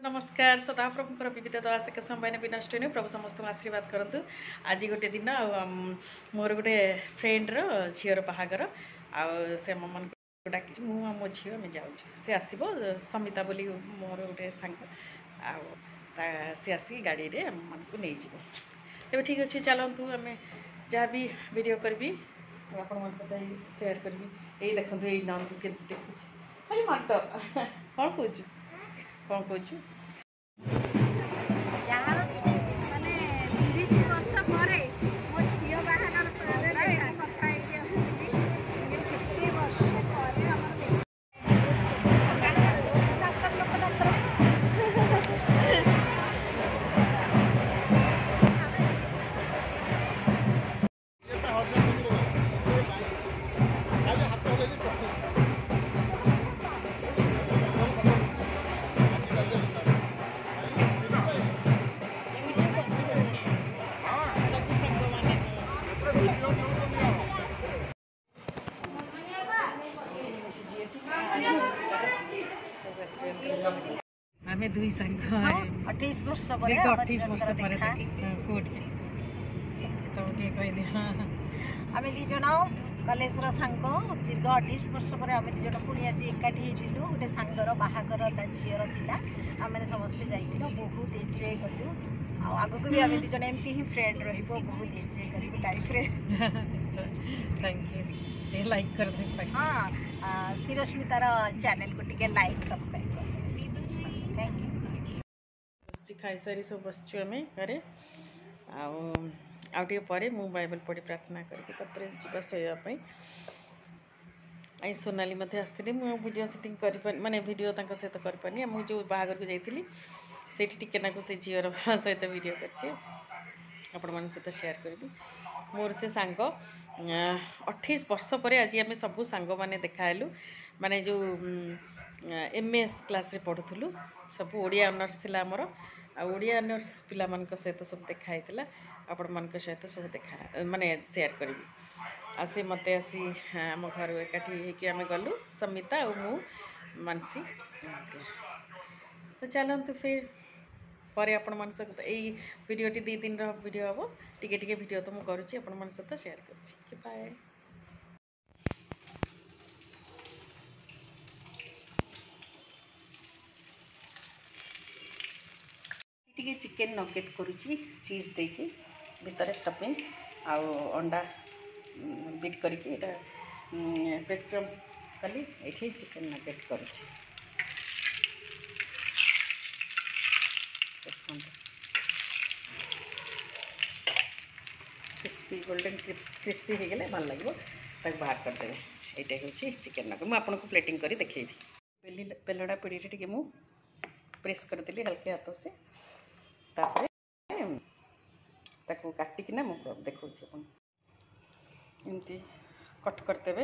ନମସ୍କାର। ସଦାପ୍ରଭୁଙ୍କର ବିବିଧ ଦାସକ ସମ୍ବାନ ବିନଷ୍ଟ ନୁହେଁ। ପ୍ରଭୁ ସମସ୍ତଙ୍କୁ ଆଶୀର୍ବାଦ କରନ୍ତୁ। ଆଜି ଗୋଟେ ଦିନ ଆଉ ମୋର ଗୋଟେ ଫ୍ରେଣ୍ଡର ଝିଅର ବାହାଘର, ଆଉ ସେ ଆମମାନଙ୍କୁ ଡାକିଛି। ମୁଁ ଆଉ ମୋ ଝିଅ ଆମେ ଯାଉଛୁ। ସେ ଆସିବ, ସମିତା ବୋଲି ମୋର ଗୋଟେ ସାଙ୍ଗ, ଆଉ ତା ସେ ଆସିକି ଗାଡ଼ିରେ ଆମମାନଙ୍କୁ ନେଇଯିବ। ତେବେ ଠିକ୍ ଅଛି, ଚାଲନ୍ତୁ। ଆମେ ଯାହା ବି ଭିଡ଼ିଓ କରିବି ଆପଣମାନଙ୍କ ସହିତ ସେୟାର କରିବି। ଏଇ ଦେଖନ୍ତୁ, ଏଇ ନନ୍ଦୁ କେମିତି ଦେଖୁଛି ଖାଲି ମାଟ। କ'ଣ କହୁଛୁ, କ'ଣ କହୁଛୁ? ମାନେ 30 ବର୍ଷ ପରେ ମୋ ଝିଅ ବାହାଘର। କଥା ହେଇକି ଆସୁଥିଲି, କେତେ ବର୍ଷ ପରେ ଆମର। ଡାକ୍ତର ଲୋକ, ଡାକ୍ତର। ସବୁ ସାଙ୍ଗମାନେ। ଝିଅଟି ଆମେ ଦୁଇ ସାଙ୍ଗ। 28 ବର୍ଷ ପରେ। ଦୀର୍ଘ 28 ବର୍ଷ ପରେ। କୁହ ଟିକେ, ତମେ ଟିକେ କହିଦିଅ। ଆମେ 2 ଜଣ କଲେଜର ସାଙ୍ଗ। ଦୀର୍ଘ 28 ବର୍ଷ ପରେ ଆମେ 2 ଜଣ ପୁଣି ଆଜି ଏକାଠି ହେଇଥିଲୁ। ଗୋଟେ ସାଙ୍ଗର ବାହାଘର ତା ଝିଅର ଥିଲା, ଆମେ ସମସ୍ତେ ଯାଇଥିଲୁ, ବହୁତ ଏନ୍ଜୟ କଲୁ। ଆଉ ଆଗକୁ ବି ଆମେ 2 ଜଣ ଏମିତି ହିଁ ଫ୍ରେଣ୍ଡ ରହିବ, ବହୁତ ଏନ୍ଜୟ କରିବୁ ଲାଇଫରେ। Thank you. ଟିକେ ଲାଇକ୍ କରିଦେବେ। ହଁ, ସ୍ଥିରସ୍ମିତାର ଚ୍ୟାନେଲକୁ ଟିକେ ଲାଇକ୍ ସବସ୍କ୍ରାଇବ୍ କରିଦେବେ। Thank you. ବସିଛି, ଖାଇସାରି ସବୁ ବସିଛୁ ଆମେ ଘରେ। ଆଉ ଆଉ ଟିକେ ପରେ ମୁଁ ବାଇବଲ ପଢ଼ି ପ୍ରାର୍ଥନା କରିକି ତାପରେ ଯିବା ଶୋଇବା ପାଇଁ। I Sonali ମଧ୍ୟ ଆସିଥିଲି। ମୁଁ ଭିଡ଼ିଓ ସୁଟିଂ କରିପାରିନି, ମାନେ ଭିଡ଼ିଓ ତାଙ୍କ ସହିତ କରିପାରିନି। ମୁଁ ଯେଉଁ ବାହାଘରକୁ ଯାଇଥିଲି, ସେଇଠି ଟିକେ ନାକୁ ସେ ଝିଅର ସହିତ ଭିଡ଼ିଓ କରିଛି, ଆପଣମାନଙ୍କ ସହିତ ସେୟାର କରିବି। ମୋର ସେ ସାଙ୍ଗ, 28 ବର୍ଷ ପରେ ଆଜି ଆମେ ସବୁ ସାଙ୍ଗମାନେ ଦେଖାହେଲୁ। ମାନେ ଯେଉଁ ଏମ୍ ଏସ୍ କ୍ଲାସ୍ରେ ପଢ଼ୁଥିଲୁ ସବୁ, ଓଡ଼ିଆ ଅନର୍ସ ଥିଲା ଆମର, ଆଉ ଓଡ଼ିଆ ଅନର୍ସ ପିଲାମାନଙ୍କ ସହିତ ସବୁ ଦେଖା ହେଇଥିଲା। ଆପଣମାନଙ୍କ ସହିତ ସବୁ ଦେଖା ମାନେ ସେୟାର କରିବି। ଆଉ ସେ ମୋତେ ଆସି ଆମ ଘରୁ ଏକାଠି ହେଇକି ଆମେ ଗଲୁ, ସମିତା ଆଉ ମୁଁ, ମାନସୀ। ତ ଚାଲନ୍ତୁ, ଫିର୍ ପରେ ଆପଣମାନଙ୍କ ସହିତ। ଏଇ ଭିଡ଼ିଓଟି 2 ଦିନର ଭିଡ଼ିଓ ହେବ। ଟିକେ ଟିକେ ଭିଡ଼ିଓ ତ ମୁଁ କରୁଛି, ଆପଣମାନଙ୍କ ସହିତ ସେୟାର କରୁଛି। ବାଏ। ଟିକେ ଚିକେନ୍ ନଗେଟ୍ କରୁଛି ଚିଜ୍ ଦେଇକି, ଭିତରେ ଷ୍ଟଫିଂ ଆଉ ଅଣ୍ଡା ବିଟ୍ କରିକି ଏଇଟା ବ୍ରେଡ଼ କ୍ରମ୍ସ କଲି। ଏଇଠି ଚିକେନ୍ ନଗେଟ୍ କରୁଛି, ଦେଖନ୍ତୁ। କ୍ରିସ୍ପି, ଗୋଲ୍ଡେନ୍ କ୍ରିସ୍ପି ହେଇଗଲେ ଭଲ ଲାଗିବ, ତାକୁ ବାହାର କରିଦେବେ। ଏଇଟା ହେଉଛି ଚିକେନ୍ ନଗେଟ୍। ମୁଁ ଆପଣଙ୍କୁ ପ୍ଲେଟିଂ କରି ଦେଖେଇବି। ବେଲି ବେଲଡ଼ା ପିଡ଼ିରେ ଟିକେ ମୁଁ ପ୍ରେସ୍ କରିଦେଲି ହାଲକେ ହାତ ସେ। ତାପରେ ତାକୁ କାଟିକିନା ମୁଁ ଦେଖାଉଛି ଆପଣ। ଏମିତି କଟ୍ କରିଦେବେ।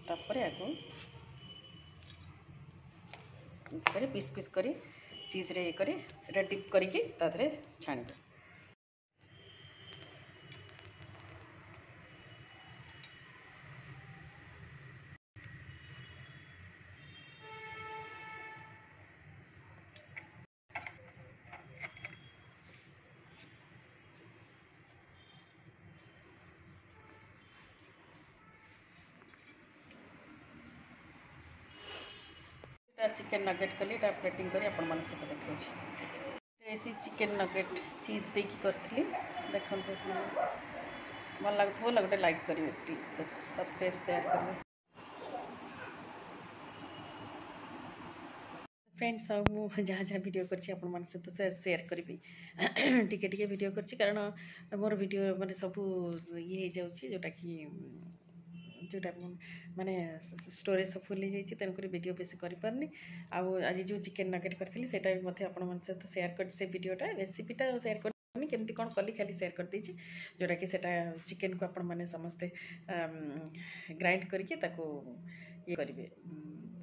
ତାପରେ ଆକୁ ଏମିତି କରି ପିସ୍ ପିସ୍ କରି ଚିଜ୍ରେ ଇଏ କରି ଏଇଟା ଡିପ୍ କରିକି ତା ଦେହରେ ଛାଣିବେ। ଚିକେନ୍ ନଗେଟ୍ କଲି, ଏଇଟା ପ୍ଲେଟିଂ କରି ଆପଣମାନଙ୍କ ସହିତ ଦେଖାଉଛି। ସେ ଚିକେନ୍ ନଗେଟ୍ ଚିଜ୍ ଦେଇକି କରିଥିଲି, ଦେଖନ୍ତୁ। ଭଲ ଲାଗୁଥିବ ଗୋଟେ ଲାଇକ୍ କରିବେ ପ୍ଲିଜ୍, ସବସ୍କ୍ରାଇବ୍, ସେୟାର କରିବେ ଫ୍ରେଣ୍ଡସ୍। ଆଉ ମୁଁ ଯାହା ଯାହା ଭିଡ଼ିଓ କରିଛି ଆପଣମାନଙ୍କ ସହିତ ସେୟାର କରିବି। ଟିକେ ଟିକେ ଭିଡ଼ିଓ କରିଛି, କାରଣ ମୋର ଭିଡ଼ିଓ ମାନେ ସବୁ ଇଏ ହେଇଯାଉଛି, ଯେଉଁଟାକି ଯେଉଁଟା ମାନେ ଷ୍ଟୋରେଜ୍ ସବୁ ଫୁଲ୍ ହେଇଯାଇଛି, ତେଣୁକରି ଭିଡ଼ିଓ ବେଶୀ କରିପାରୁନି। ଆଉ ଆଜି ଯେଉଁ ଚିକେନ୍ ନଗେଟ୍ କରିଥିଲି, ସେଇଟା ବି ମଧ୍ୟ ଆପଣମାନଙ୍କ ସହିତ ସେୟାର କରିଛି। ସେ ଭିଡ଼ିଓଟା, ରେସିପିଟା ସେୟାର କରିନି, କେମିତି କ'ଣ କଲି ଖାଲି ସେୟାର କରିଦେଇଛି। ଯେଉଁଟାକି ସେଇଟା ଚିକେନ୍କୁ ଆପଣମାନେ ସମସ୍ତେ ଗ୍ରାଇଣ୍ଡ କରିକି ତାକୁ ଇଏ କରିବେ।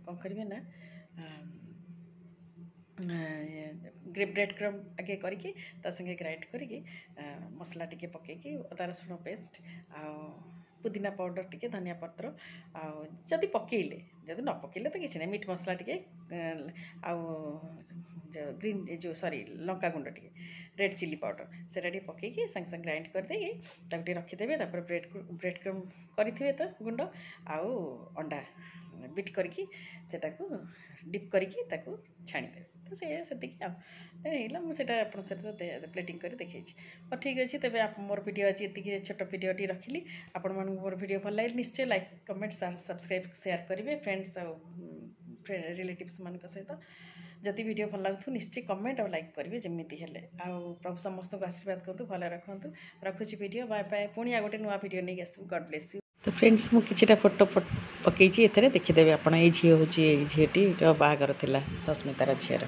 କ'ଣ କରିବେ ନା, ବ୍ରେଡ଼ କ୍ରମ୍ ଆଗେ କରିକି ତା ସାଙ୍ଗେ ଗ୍ରାଇଣ୍ଡ କରିକି, ମସଲା ଟିକେ ପକାଇକି, ଅଦା ରସୁଣ ପେଷ୍ଟ ଆଉ ପୁଦିନା ପାଉଡ଼ର ଟିକେ, ଧନିଆ ପତ୍ର, ଆଉ ଯଦି ପକେଇଲେ, ଯଦି ନ ପକେଇଲେ ତ କିଛି ନାହିଁ, ମିଟ୍ ମସଲା ଟିକେ, ଆଉ ଗ୍ରୀନ୍ ଯେଉଁ ସରି ଲଙ୍କା ଗୁଣ୍ଡ ଟିକେ, ରେଡ଼୍ ଚିଲି ପାଉଡ଼ର, ସେଇଟା ଟିକେ ପକେଇକି ସାଙ୍ଗେ ସାଙ୍ଗେ ଗ୍ରାଇଣ୍ଡ କରିଦେଇକି ତାକୁ ଟିକେ ରଖିଦେବେ। ତାପରେ ବ୍ରେଡ଼୍ କ୍ରମ୍ କରିଥିବେ ତ ଗୁଣ୍ଡ, ଆଉ ଅଣ୍ଡା ବିଟ୍ କରିକି ସେଟାକୁ ଡିପ୍ କରିକି ତାକୁ ଛାଣିଦେବେ। ତ ସେଇଆ ସେତିକି ଆଉ ହେଇଗଲା। ମୁଁ ସେଇଟା ଆପଣଙ୍କ ସହିତ ପ୍ଲେଟିଂ କରି ଦେଖେଇଛି। ହଉ, ଠିକ୍ ଅଛି। ତେବେ ମୋର ଭିଡ଼ିଓ ଆଜି ଏତିକି, ଛୋଟ ଭିଡ଼ିଓଟି ରଖିଲି। ଆପଣମାନଙ୍କୁ ମୋର ଭିଡ଼ିଓ ଭଲ ଲାଗିଲେ ନିଶ୍ଚୟ ଲାଇକ୍, କମେଣ୍ଟ, ସବସ୍କ୍ରାଇବ୍, ସେୟାର କରିବେ ଫ୍ରେଣ୍ଡସ୍ ଆଉ ରିଲେଟିଭ୍ସ ମାନଙ୍କ ସହିତ। ଯଦି ଭିଡ଼ିଓ ଭଲ ଲାଗୁଥିବ, ନିଶ୍ଚୟ କମେଣ୍ଟ ଆଉ ଲାଇକ୍ କରିବେ ଯେମିତି ହେଲେ। ଆଉ ପ୍ରଭୁ ସମସ୍ତଙ୍କୁ ଆଶୀର୍ବାଦ କରନ୍ତୁ, ଭଲ ରଖନ୍ତୁ। ରଖୁଛି ଭିଡ଼ିଓ। Bye bye. ପୁଣି ଆଉ ଗୋଟେ ନୂଆ ଭିଡ଼ିଓ ନେଇକି ଆସିବୁ। God bless you. ତ ଫ୍ରେଣ୍ଡସ୍, ମୁଁ କିଛିଟା ଫଟୋ ପକେଇଛି ଏଥିରେ, ଦେଖିଦେବେ ଆପଣ। ଏଇ ଝିଅ ହେଉଛି, ଏଇ ଝିଅଟିର ବାହାଘର ଥିଲା, ସସ୍ମିତାର ଝିଅର।